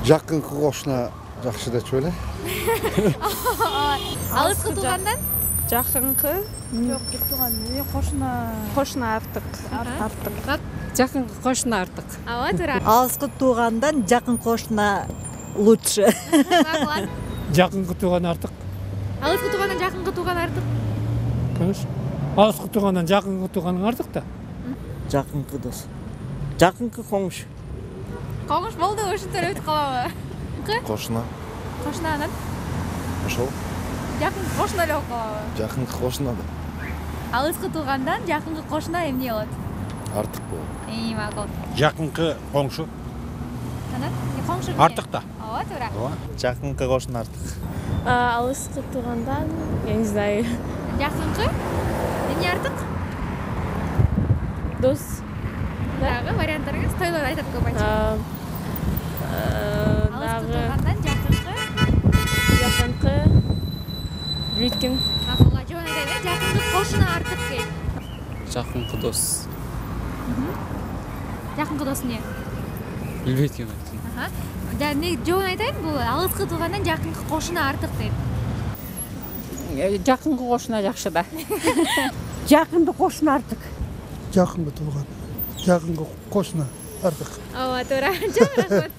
Жакынкы кошуна жакшы деп эле. Алыскы туугандан? Жакынкы Жок, тууган. кошуна артык. Жакынкы кошуна артык. Ооба, туура. Алыскы туугандан жакын кошуна лучше. Жакынкы тууган артык. Алыскы туугандан жакынкы тууган артык. Конечно. Алыскы туугандан жакынкы тууганың артык да. Жакынкы дос. Жакынкы коңуш. Коңуш болду, ушинтип өтүп калабы? Кошуна. Кошуна анан Ошол. жакынкы кошуна эле болуп калабы? Жакынкы кошуна да Алыскы туугандан жакынкы кошуна эмне болот? артык болот. Макул. Жакынкы коңшу Анан коңшу артык да. Ооба, туура. Жакынкы кошуна артык. Алыскы туугандан, я не знаю, Жакынкы эмне артык? дос. Дагы варианттарыңыз тойлор айтат көп айтчу. Алыскы Дагы туугандан жакынкы бүткүн. макулга жооп айтайын. Жакынкы кошуна артык дейт. Жакынкы дос. Жакынкы дос эмне? Билбейт экен. Эмне жооп айтайын, бул алыскы туугандан жакынкы кошуна артык дейт. Жакынкы кошуна жакшы да. Жакынды кошуна артык. Жакынкы тууган. Жакынкы кошуна артык. Ооба, туура. Жок рахмат.